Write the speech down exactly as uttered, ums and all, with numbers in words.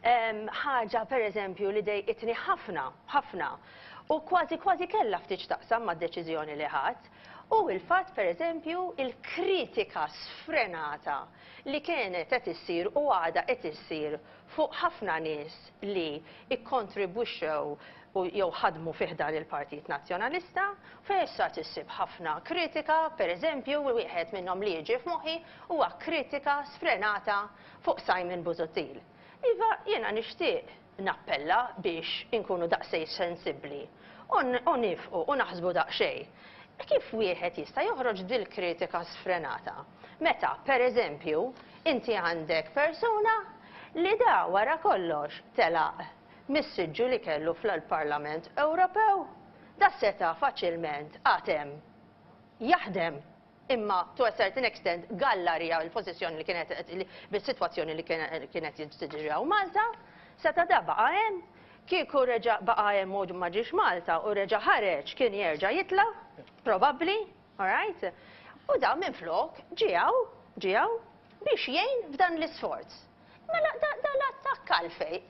Ħaġa, per eżempju, li dejqitni ħafna, ħafna, u kważi kważi kella ftit taqsam ma' deċiżjoni li ħadd, u il-fatt, per eżempju, il-kritika sfrenata li kienet qed issir u għada qed issir fuq ħafna nies li ikkontribwixxew u jew ħadmu fih dan il-Partit Nazzjonalista, fejn issa tissib ħafna kritika. Per eżempju, wieħed minnhom li jiġi f'moħħi huwa kritika sfrenata fuq Simon Busuttil. Iva, jiena nixtieq nappella biex inkunu daqsej sensibbli u nifqu u naħsbu daqsxejn. Kif wieħed jista' joħroġ dil kritika sfrenata? Meta, per eżempju, inti għandek persuna li da wara kollox telaq mis-siġġu li kellu fl-Parlament Ewropew, da seta faċilment għatem jaħdem, imma to a certain extent gallarija l-pożizzjoni li kienet, bis-sitwazzjoni li kienet tiġri Malta, seta da baqa' hemm, kieku reġa' baqa' hemm u ma ġiex Malta u reġa' ħareġ, kien jerġa' jitla', probabbli, all right? U da minn flok ġijaw, ġijaw biex jgħin f'dan l-isforz. Mela da, da l-attakk għalfej.